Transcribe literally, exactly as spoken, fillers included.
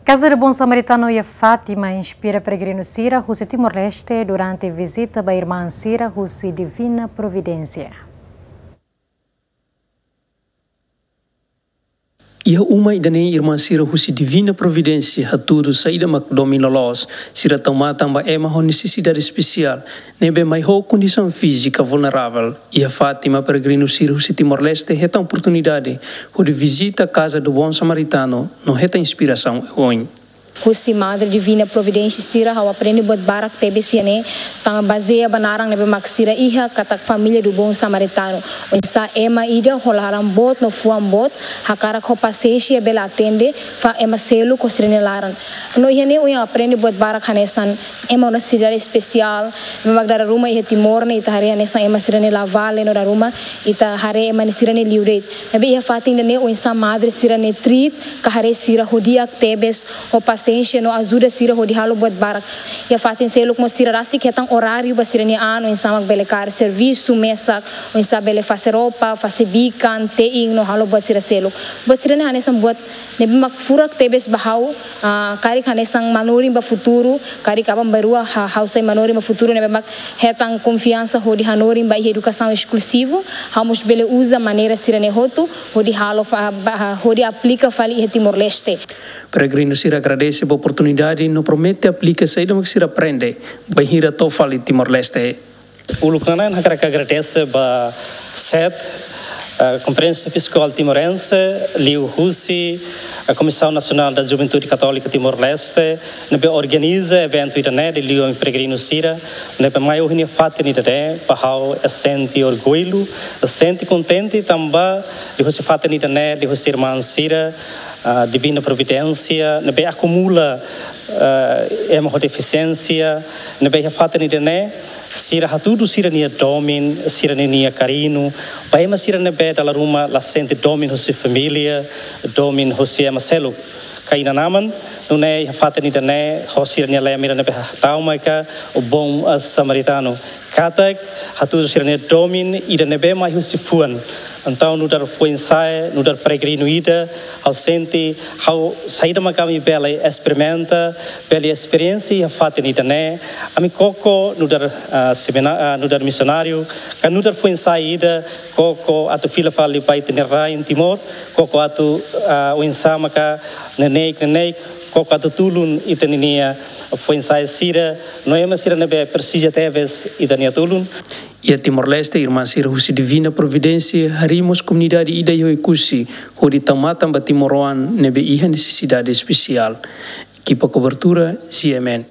Casa do Bom Samaritano iha Fátima inspira peregrinu sira husi Timor-Leste durante vizita ba irmán sira husi Divina Providência. Iha uma ida-ne'e irmán sira husi Divina Providência hatudu saida mak domin loloos sira tau matan ba ema ho nesesidade espesiál ne'ebé mai ho kondisaun fízika vulneravel. Iha Fátima peregrinu sira husi Timor-Leste hetan oportunidade hodi vizita Casa do Bom Samaritano no hetan inspirasaun oioin. Husi Madre Divina Providência sira ha'u aprende buat barak tebes iha ne'e, tanba bazeia ba naran ne'ebé mak sira iha katak família do Bom Samaritano. Oinsá ema ida ho laran boot no fuan boot hakarak ho pasiénsia bele atende fali ema seluk ho sira-nia laran. No iha ne'e ohin aprende buat barak hanesan ema ho nesesidade espesiál, ema mak dala ruma iha Timor ne'e ita haree hanesan ema sira-nia la vale no dala ruma ita haree ema sira-nia liu de'it. Maibé iha fatin ida-ne'e oinsá madre sira-nia treat ka haree sira ho di'ak tebes, ho pasiénsia no ajuda sira hodi halo buat barak. Iha fatin seluk mós sira rasik hetan oráriu ba sira-nia an, oinsá mak bele kaer servisu mesak, oinsá bele fase roupa, fase bikan, te'in no halo buat sira seluk. Buat sira-ne'e hanesan buat ne'ebé mak furak tebes ba ha'u, ah, karik hanesan manorin ba futuru, karik aban-bainrua ha-, ha'u sai manorin ba futuru ne'ebé mak hetan konfiansa hodi hanorin ba iha edukasaun eskluzivu, ha'u mós bele uza maneira sira-ne'e hotu hodi halo fa-, ba, hodi aplika fali iha Timor-Leste. Peregrinu sira agradese ba oportunidade no promete aplika saida mak sira aprende bainhira to'o fali Timor-Leste. Uluk nanain hakarak agradese ba SED, eh, Conferência Episcopal Timorense, liuhusi, eh, Comissão Nacional da Juventude Católica Timor-Leste, ne'ebé organiza eventu ida-ne'e liuliu ami peregrinu sira, ne'ebé mai ohin iha fatin ida-ne'e, ba ha'u sente orgullu, sente kontente tanba liuhusi fatin ida-ne'e, liuhusi irmán sira, ah, Divina Providência, ne'ebé akumula, ah, ema ho defisiénsia, ne'ebé iha fatin ida-ne'e, sira hatudu sira-nia domin, sira-nia kariñu ba ema sira ne'ebé dala ruma la sente domin husi família, domin husi ema seluk. Ka inan-aman, nune'e iha fatin ida-ne'e, ho sira-nia lema ida ne'ebé hatama ka, o bom, ah, samaritano. Katak hatudu sira-nia domin ida ne'ebé mai husi fuan. Entaun nu'udar foin-sa'e, nu'udar peregrinu ida, ha'u sente, ha'u saida mak ami bele esperimenta, bele esperiénsia iha fatin ida-ne'e, ami koko nu'udar, ah, semina-, ah, nu'udar misionáriu, ka nu'udar foin-sa'e ida, koko atu fila fali ba ita-nia rain Timor, koko atu, ah, oinsá maka neineik-neineik, koko atu tulun ita-nia foin-sa'e sira, no ema sira ne'ebé presiza tebes ita-nia tulun. Iha Timor-Leste, irmán sira husi Divina Providência harii mós komunidade ida iha Oekusi, hodi tau matan ba timoroan ne'ebé iha nesesidade espesiál. Ekipa kobertura, G M N.